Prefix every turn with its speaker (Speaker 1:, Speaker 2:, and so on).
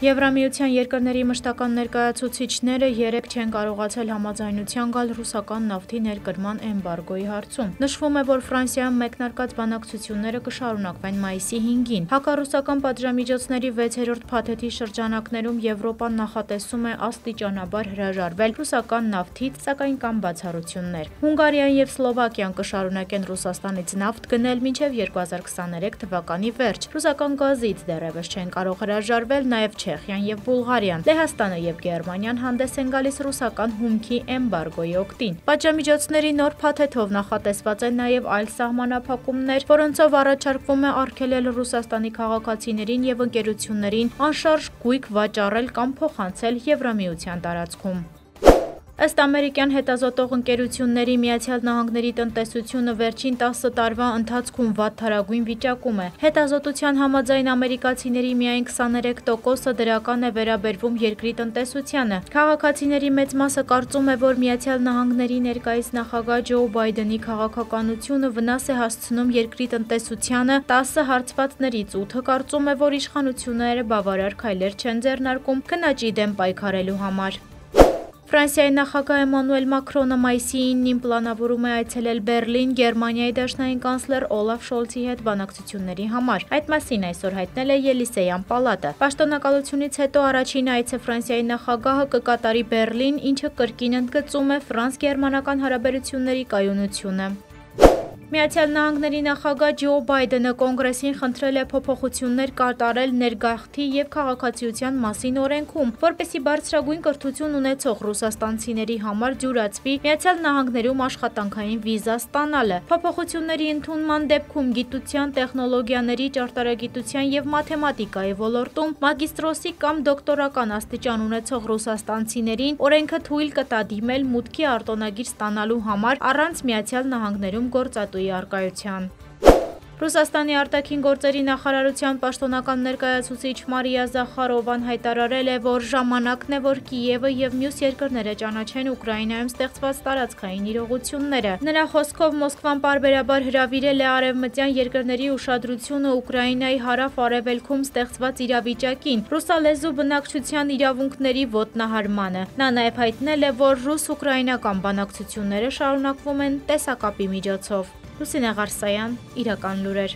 Speaker 1: Եվրամիության երկրների մշտական ներկայացուցիչները երեկ չեն կարողացել համաձայնության գալ ռուսական նավթի ներկրման էմբարգոյի հարցում։ Նշվում է, որ Ֆրանսիայում մեկնարկած բանակցությունները կշարունակվեն մայիսի 5-ին։ Հակառուսական պատժամիջոցների 6-րդ փաթեթի շրջանակներում Եվրոպան նախատեսում է աստիճանաբար հրաժարվել ռուսական նավթից, սակայն կան բացառություններ։ Հունգարիան եւ Սլովակիան կշարունակեն Ռուսաստանից նավթ գնել մինչև 2023 թվականի վերջ։ Ռուսական գազից դեռևս չեն կարող հրաժարվել նաեւ Չեխիան եւ Բուլղարիան, Լեհաստանը եւ Գերմանիան հանդես են գալիս ռուսական հումքի էմբարգոյի օգտին։ Պատժամիջոցների նոր փաթեթով նախատեսված են նաեւ այլ սահմանափակումներ, որոնցով առաջարկվում է արգելել Ռուսաստանի քաղաքացիներին եւ ընկերություններին անշարժ գույք վաճառել կամ փոխանցել Եվրամիության տարածքում։ Ըստ ամերիկյան հետազոտող ընկերությունների Միացյալ Նահանգների տնտեսությունը վերջին 10 տարվա ընթացքում վատթարագույն վիճակում է։ Հետազոտության համաձայն ամերիկացիների միայն 23%-ը դրական է վերաբերվում երկրի տնտեսությանը։ Քաղաքացիների մեծ մասը կարծում է, որ Միացյալ Նահանգների ներկայիս նախագահ Ջո Բայդենի քաղաքականությունը վնաս է հասցնում երկրի տնտեսությանը, 10 հարցվածներից 8-ը կարծում է, որ իշխանությունները բավարար քայլեր չեն ձեռնարկում քննաճի դեմ պայքարելու համար։ Ֆրանսիայի նախագահ Էմանուել Մակրոնը մայիսի 9-ին պլանավորում է այցելել Բեռլին Գերմանիայի դաշնային կանցլեր Օլաֆ Շոլցի հետ բանակցությունների համար։ Այդ մասին այսօր հայտնել է Ելիսեյան պալատը։ Պաշտոնակալությունից հետո առաջին այցը Ֆրանսիայի նախագահը կկատարի Բեռլին, ինչը կրկին ընդգծում է ֆրանս-գերմանական հարաբերությունների կայունությունը։ Միացյալ Նահանգների նախագահ Ջո Բայդենը կոնգրեսին խնդրել է փոփոխություններ կատարել ներգաղթի եւ քաղաքացիության մասին օրենքում, որպեսզի բարձրագույն կրթություն ունեցող ռուսաստանցիների համար դյուրացվի Միացյալ Նահանգներում աշխատանքային վիզա ստանալը։ Փոփոխությունների ընդունման դեպքում գիտության, տեխնոլոգիաների, ճարտարագիտության եւ մաթեմատիկայի ոլորտում մագիստրոսի կամ դոկտորական աստիճան ունեցող ռուսաստանցիներին օրենքը թույլ կտա դիմել մուտքի արտոնագիր ստանալու համար առանց Միացյալ Նահանգներում գործատու արկայության։ Ռուսաստանի արտաքին գործերի նախարարության պաշտոնական ներկայացուցիչ Մարիա Զախարովան հայտարարել է, որ ժամանակն է, որ Կիևը եւ մյուս երկրները ճանաչեն Ուկրաինայում ստեղծված տարածքային իրողությունները։ Նրա խոսքով Մոսկվան պարբերաբար հրավիրել է արևմտյան երկրների ուշադրությունը Ուկրաինայի հարավ-արևելքում ստեղծված իրավիճակին, ռուսալեզու բնակչության իրավունքների ոտնահարմանը։ Նա նաեւ հայտնել է, որ ռուս-ուկրաինական բանակցությունները շարունակվում են տեսակապի միջոցով։ Լուսինե Ղարսայան, Իրական լուրեր։